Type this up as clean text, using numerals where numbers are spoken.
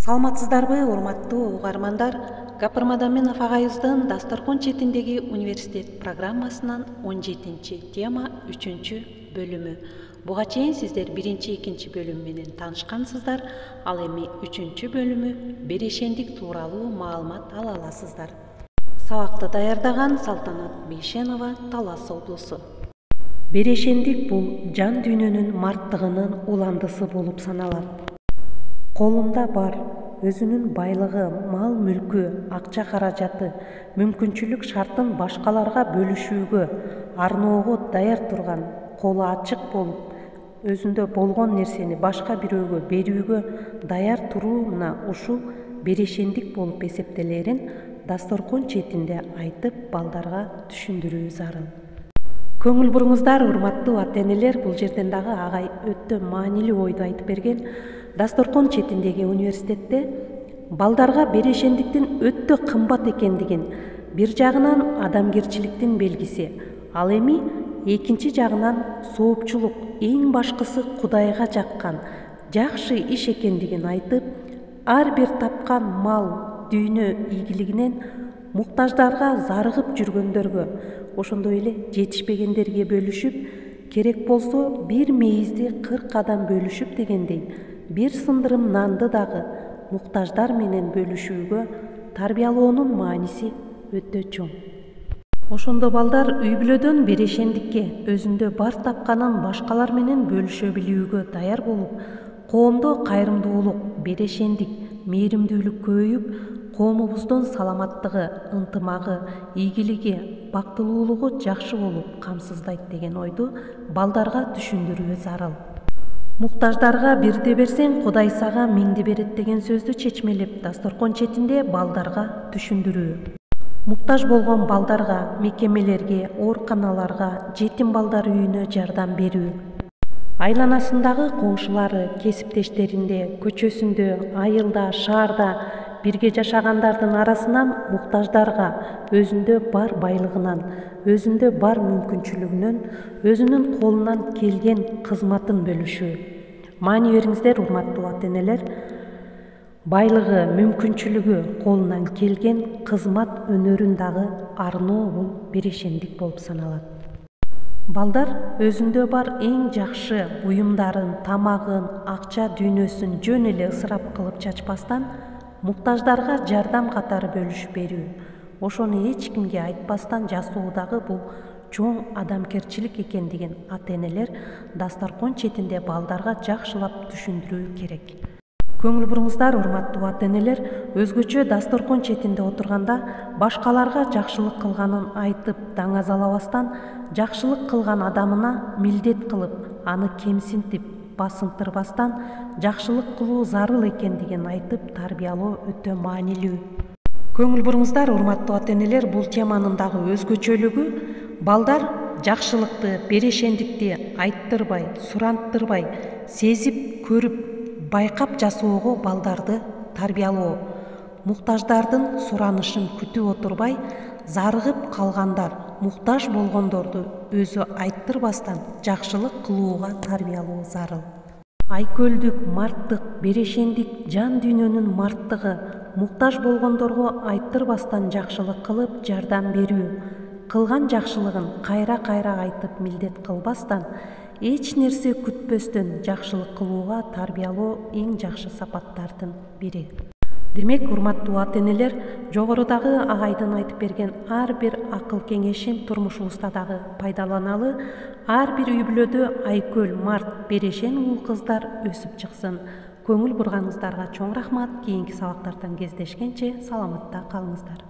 Саламатсыздарбы, урматтуу угармандар? Гапырмада Менов агайыбыздын Дасторкон четиндеги университет программасынан 17 тема 3-бөлүмү. Буга чейин сиздер 1-2 бөлүм менен таанышкансыздар, ал эми 3-бөлүмү берешендик тууралуу маалымат ала аласыздар. Сабакты даярдаган Салтанат Бейшенова, Талас облусу. Берешендик бул жан дүйнөнүн марттыгынын уландысы болуп саналат. Колунда бар, өзүнүн байлыгы, мал мүлкү, акча каражаты, мүмкүнчүлүк шартын башкаларга бөлүшүүгө, арноого даяр турган, колу ачык болуп, өзүндө болгон нерсени башка бирөөгө берүүгө даяр туруу мына ушул берешендик болуп эсептелерин Дасторкон четинде айтып, балдарга түшүндүрүү зарыл. Көңүл буруңуздар, урматтуу ата-энелер, бул жерден дагы агай өтө маанилүү ойду айтып берген. Дасторкон четиндеги университетте балдарга берешендиктин өтө кымбат экендигин, бир жагынан адамгерчиликтин белгиси, ал эми экинчи жагынан соопчулук, эң башкысы Кудайга жаккан, жакшы иш экендигин айтып, ар бир тапкан мал, дүйнө ийгилигинен муктаждарга зарыгып жүргөндөргө, ошондой эле жетишпегендерге бөлүшүп, керек болсо бир мейизди 40 адам бөлүшүп дегендей, бир сындырым нанды дагы муктаждар менен бөлүшүүгө тарбиялоонун мааниси өтө чоң. Ошондо балдар үй бүлөдөн берешендикке, өзүндө бар тапканын башкалар менен бөлүшө билүүгө даяр болуп, коомдо кайрымдуулук, берешендик, мээримдүүлүк көбөйүп, коомубуздун саламаттыгы, ынтымагы, ийгилиги, бактылуулугу жакшы болуп камсыздайт деген ойду балдарга түшүндүрүү зарыл. Муктаждарга бирди берсең, Кудай сага миңди берет деген сөздү чечмелеп, Дасторкон четинде балдарга түшүндүрүү. Муктаж болгон балдарга, мекемелерге, ооруканаларга, жетим балдар үйүнө жардам берүү. Айланасындагы коңшулары, кесиптештеринде, көчөсүндө, айылда, шаарда бирге жашагандардын арасынан муктаждарга өзүндө бар байлыгынан, өзүндө бар мүмкүнчүлүгүнөн, өзүнүн колунан келген кызматын бөлүшүү. Маани бериңиздер, урматтуу ата-энелер. Байлыгы, мүмкүнчүлүгү, колунан келген кызмат өнөрүн дагы арноо бул берешендик болуп саналат. Балдар өзүндө бар эң жакшы буюмдарын, тамагын, акча дүйнөсүн жөн эле ысырап кылып чачпастан, муктаждарга жардам катары бөлүшүп берүү. Ошону эч кимге айтпастан жасоо дагы бул чоң адамгерчилик экендигин ата-энелер Дасторкон четинде балдарга жакшылап түшүндүрүү керек. Көңүл буруңуздар, урматтуу ата-энелер, өзгөчө Дасторкон четинде отурганда башкаларга жакшылык кылганын айтып даңазалабастан, жакшылык кылган адамына милдет кылып, аны кемсинтип, басынтырбастан жакшылык кылуу зарыл экендигин айтып тарбиялоо өтө маанилүү. Көңүл буруңуздар, урматтуу ата-энелер, бул теманын дагы өзгөчөлүгү балдар жакшылыкты, берешендикти айттырбай, суранттырбай, сезип, көрүп, байкап жасоого балдарды тарбиялоо. Муктаждардын суранышын күтүп отурбай, зарыгып калгандар, муктаж болгондорду өзү айттырбастан жакшылык кылууга тарбиялоо зарыл. Айкөлдүк, марттык, берешендик, жан дүйнөнүн марттыгы, муктаж болгондорго айттырбастан жакшылык кылып жардам берүү. Кылган жакшылыгын кайра-кайра айтып милдет кылбастан, эч нерсе күтпөстөн жакшылык кылууга тарбиялоо эң жакшы сапаттардын бири. Демек, урматтуу ата-энелер, жогорудагы агайдын айтып берген ар бир акыл кеңешин турмушубузда дагы пайдаланалы, ар бир үй бүлөдө айкөл, март, берешен уул кыздар өсүп чыксын. Көңүл бурганыңыздарга чоң рахмат. Кийинки сабактардан кездешкенче саламатта калыңыздар.